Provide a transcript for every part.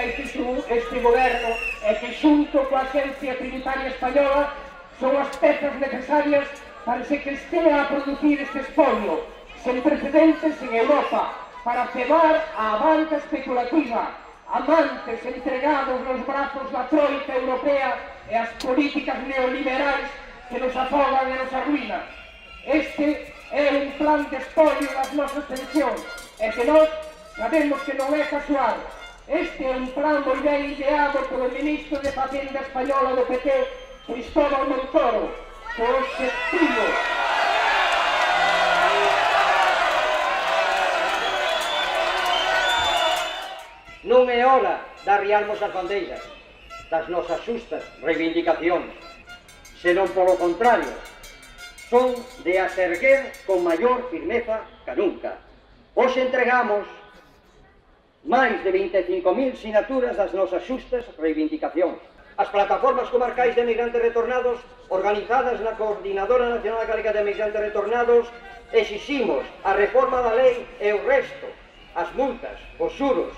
reivindica este goberno e que xunto coa Axencia Tributaria Española son as pezas necesarias para que estea a producir este espolio sen precedentes en Europa para cebar a banca especulativa, amantes entregados nos brazos da troika europea e as políticas neoliberais que nos afogan e nos arruinan. Este é un plan de espolio das nosas pensións e que nós sabemos que non é casual. Este é un plan moi ben ideado polo ministro de Facenda española do PT, Cristóbal Montoro, co obxectivo non é hora de arriarmos as bandeiras das nosas xustas reivindicacións, senón polo contrario, son de as erguer con maior firmeza que nunca. Hoxe entregamos máis de 25.000 sinaturas das nosas xustas reivindicacións. As plataformas comarcais de emigrantes retornados, organizadas na Coordinadora Nacional Galega de Emigrantes Retornados, exiximos a reforma da lei e o resto, as multas, os xuros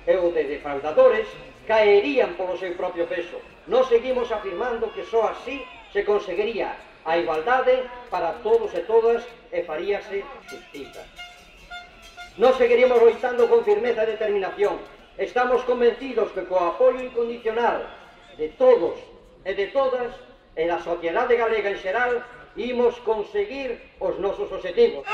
e os de defraudadores caerían polo seu propio peso. Nós seguimos afirmando que só así se conseguiría a igualdade para todos e todas e faríase justiza. Nós seguiremos loitando con firmeza e determinación. Estamos convencidos que co apoio incondicional de todos e de todas e da sociedade galega en xeral imos conseguir os nosos obxectivos.